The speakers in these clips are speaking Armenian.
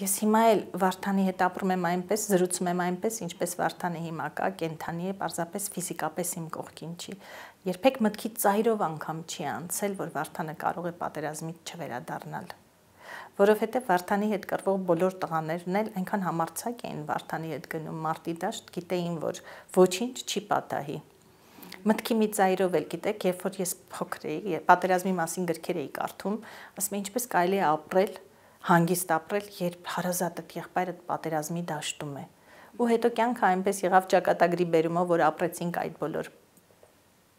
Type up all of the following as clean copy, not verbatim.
Ես հիմա էլ Վարդանի հետ ապրում եմ այնպես, զրուցում եմ այնպես, ինչպես Վարդանը հիմա կա, կենթանի է, պարզապես ֆիզիկապես իմ կողքին չի։ Երբեք մտքից ծայրով անգամ չի անցել, որ Վարդանը կարող է պատերազմից չվերադառնալ։ Որովհետև Վարդանի հետ կռվող բոլոր տղաներն էլ այնքան համարձակ էին Վարդանի հետ գնում մարտի դաշտ, գիտեին, որ ոչինչ չի պատահի։ Մտքի մի ծայրով էլ գիտեք, երբ որ ես փոքր էի, պատերազմի մասին գրքեր էի կարդում, ասում եմ ինչպես կարելի է ապրել, հանգիստ ապրել, երբ հարազատդ եղբայրդ պատերազմի դաշտում է։ Ու հետո կյանքը այնպես եղավ ճակատագրի բերումով, որ ապրեցինք այդ բոլոր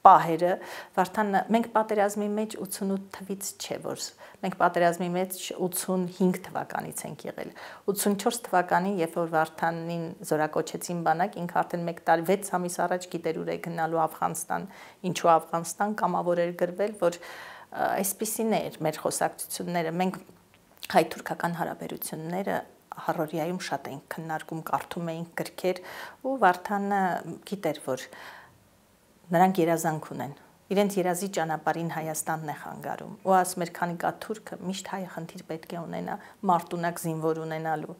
պահերը, Վարդանը, մենք պատերազմի մեջ 88 թվից չէ, որ մենք պատերազմի մեջ 85 թվականից ենք եղել։ 84 թվականին, երբ որ Վարդանին զորակոչեցին բանակ, ինքը արդեն 1 տարի 6 ամիս առաջ գիտեր ուր է գնալու Աֆղանստան, ինչու Աֆղանստան, կամավոր էր գրվել, որ այսպիսին էր մեր խոսակցությունները, մենք հայ-թուրքական հարաբերությունները Հարորիայում շատ էինք քննարկում, կարդում էինք գրքեր ու Վարդանը գիտեր, որ նրանք երազանք ունեն, իրենց երազի ճանապարհին Հայաստանն է խանգարում ու ասում էր, քանի կա թուրքը, միշտ հայը խնդիր պետք է ունենա մարտունակ զինվոր ունենալու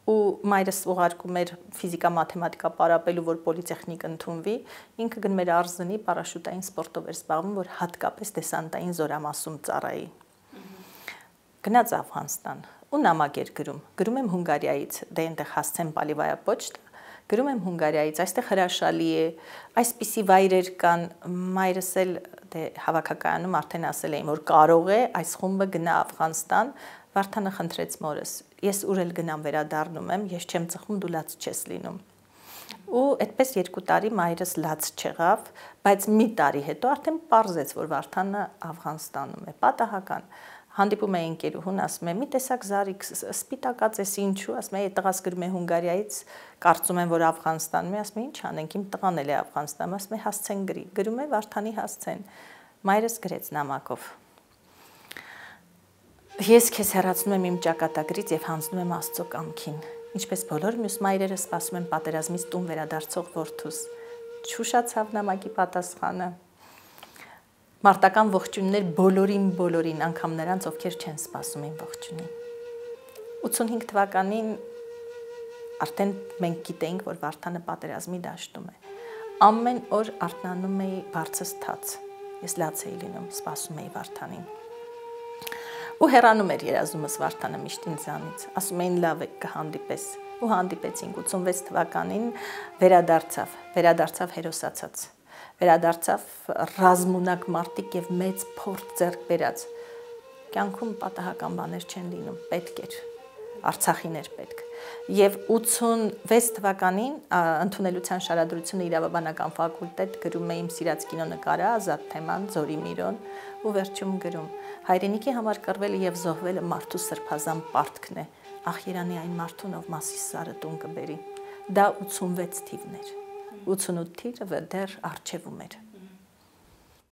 ու մայրս ուղարկում էր ֆիզիկա-մաթեմատիկա պարապելու, որ պոլիտեխնիկ ընդունվի, ինքը գնում էր Արզնի պարաշուտային սպորտով էր զբաղվում, որ հատկապես դեսանտային զորամասում ծառայի։ Գնաց Աֆղանստան ու նամակ էր գրում եմ Հունգարիայից, դե այնտեղ հասցեն Պալիվայա պոչտ, գրում եմ Հունգարիայից, այստեղ հրաշալի է, այսպիսի վայրեր կան, մայրս էլ դե հավաքակայանում արդեն ասել էին, որ կարող է այս խումբը գնա Աֆղանստան, Վարդանը խնդրեց մորս, ես ուր էլ գնամ վերադառնում եմ, ես չեմ ծխում, դու լաց չես լինում։ Ու այդպես 2 տարի մայրս լաց չեղավ, բայց մի տարի հետո արդեն պարզեց, որ Վարդանը Աֆղանստանում է, պատահական։ Հանդիպում էի ընկերուհուն, ասում է, մի տեսակ Զարիկ, սպիտակած ես ինչու, ասում է, տղաս գրում է Հունգարիայից, կարծում եմ, որ Աֆղանստանում է, ասում է, ինչ անենք, իմ տղան էլ է Աֆղանստանում, ասում է, հասցեն գրի, գրում է Վարդանի հասցեն, մայրս գրեց նամակով։ Ես քեզ հեռացնում եմ իմ ճակատագրից եւ հանձնում եմ Աստծո կամքին, ինչպես բոլոր մյուս մայրերը սպասում են պատերազմից տուն վերադարձող որդուս։ Չուշացավ նամակի պատասխանը։ Մարտական ողջույններ բոլորին, անգամ նրանց, ովքեր չեն սպասում են ողջունին։ 85 թվականին արդեն մենք գիտեինք, որ Վարդանը պատերազմի դաշտում է։ Ամեն օր արթնանում էի բարձր թաց։ Ես լաց էի լինում, սպասում էի Վարդանին։ Ու հեռանում էր երազումս Վարդանը միշտ ինձանից, ասում էին լավ է կհանդիպես։ Ու հանդիպեցինք 86 թվականին վերադարձավ հերոսացած։ Վերադարձավ ռազմունակ մարտիկ եւ մեծ փորձ ձեռք բերած։ Կյանքում պատահական բաներ չեն լինում, պետք էր, Արցախին էր պետք։ Եվ 86 թվականին ընդունելության շարադրությունը իրավաբանական ֆակուլտետ գրում է իմ սիրած կինոնկարը Ազատ թեման, Ձորի Միրոն ու վերջում գրում հայրենիքի համար կռվելը եւ զոհվելը մարդու սրբազան պարտքն է, ախ Երանի այն մարդուն, ով Մասիս սարը տուն կբերի։ Դա 86 թիվն էր։ 88 թիվը դեռ առջևում էր։